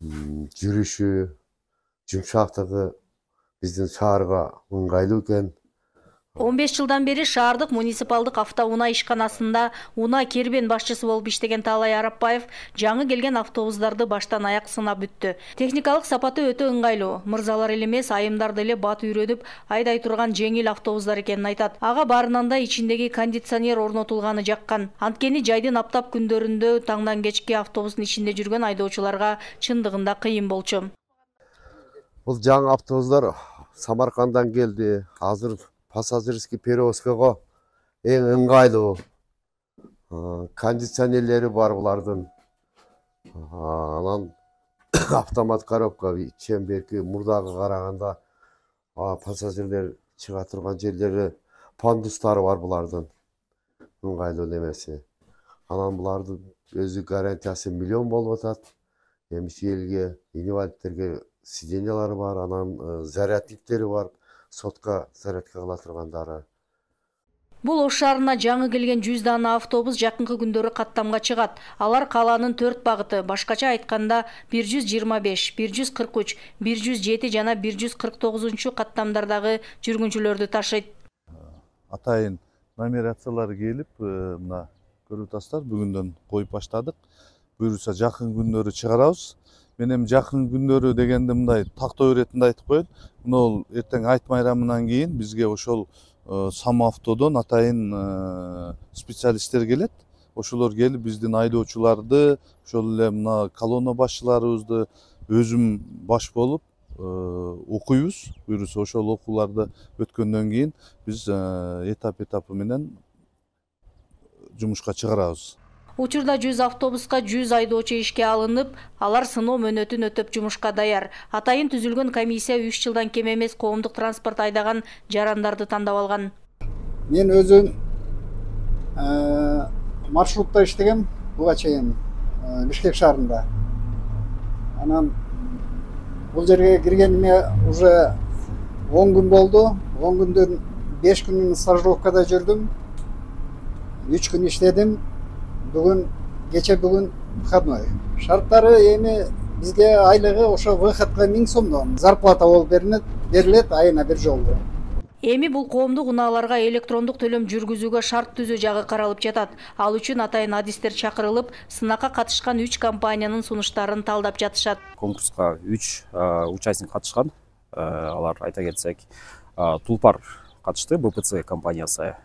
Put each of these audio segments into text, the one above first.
жүрүшү, жумшактыгы биздин шаарга ыңгайлуу экен. 15 жылдан бери шаардык муниципалдык автоунаа ишканасында унаа кербен башчысы болуп иштеген Таалай Арапбаев жаңы келген автобустарды баштан аяк сынап бүттү. Техникалык сапаты өтө ыңгайлуу. Мырзалар эле эмес, айымдарды эле бат үйрөнүп, айдай турган жеңил автобустар экенин айтат. Ага баарынан да ичиндеги кондиционер орнотулганы жаккан. Анткени жайдын аптап күндөрүндө таңдан кечке автобустун ичинде жүргөн айдоочуларга чындыгында кыйын болчу. Бул жаңы автобустар Самаркандан келди. Азыр пассажирский перевозкага эң ыңгайлуу. Кондиционерлери бар булардын. Анан автомат коробка чемберки мурдага караганда пассажирлер чыга турган жерлери пандустары бар булардын. Ыңгайлуу немеси. Анан булардын өзү гарантиясы 1 миллион болуп атат. Эмчи элге, инвалидтерге сиденьялары бар, анан зарядниктери бар. Сотка зарядка кыла тургандары. Бул Ош шаарына жаңы келген 100 дана автобус жакынкы күндөрү каттамга чыгат. Алар калаанын 4 багыты, башкача айтканда 125, 143, 107 жана 149 каттамдардагы жүргүнчүлөрдү ташыйт. Атайын номерациялар келип, мына көрүп атасыздар, бүгүндөн коюп баштадык. Буюрса жакын күндөрү чыгарабыз. Мен эми жакын күндөрү дегенде мындай тактоо иретинде айтып коеюн. Мына эртең айт майрамынан кийин бизге ошол Самавтодон атайын специалисттер келет. Ошолор келип биздин айдоочуларды, ошол эле мына колонна башчыларыбызды өзүм баш болуп окуйбуз. Буюрса ошол окууларды өткөндөн кийин биз этап менен жумушка чыгарабыз. Учурда 100 автобуска 100 айдоочу ишке алынып, алар сыноо мөөнөтүн өтөп жумушка даяр. Атайын түзүлгөн комиссия 3 жылдан кем эмес коомдук транспорт айдаган жарандарды тандап алган. Мен өзүм маршрутта иштегем, буга чейин Бишкек шаарында. Анан бул жерге киргениме уже 10 күн болду. 10 күндөн 5 күнүн стажировкада жүрдүм. 3 күн иштедим. Кече бүгүн выходной. Шарттары эми бизге айлыгы ошо выходко 1000 сомдон зарплата болуп берилет айына бир жолу. Эми бул коомдук унааларга электрондук төлөм жүргүзүүгө шарт түзүү жагы каралып жатат. Ал үчүн атайын адистер чакырылып, сынакка катышкан 3 компаниянын сунуштарын талдап жатышат. Конкурска 3 участник катышкан. Алар айта кетсек, Тулпар катышты, БПЦ компаниясы,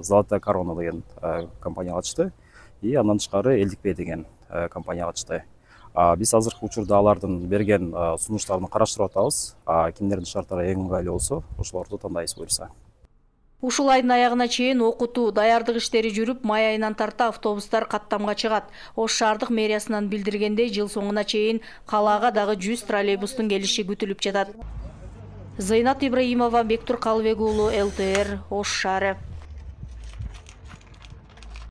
Золотая корона деген компания катышты. И андан тышкары Элдикбей деген компания катышты. Биз азыркы учурда алардын берген сунуштарын караштырып атабыз. Кимдердин шарттары эң ыңгайлуу болсо, ошолорду тандайбыз буюрса. Ушул айдын аягына чейин окутуу, даярдык иштери жүрүп, май айынан тарта автобустар каттамга чыгат. Ош шаардык мэриясынан билдиргендей, жыл соңуна чейин калаага дагы 100 троллейбустун келиши күтүлүп жатат. Зайнат Ибраимова, Бектур Калыбек уулу, ЛТР, Ош шаары.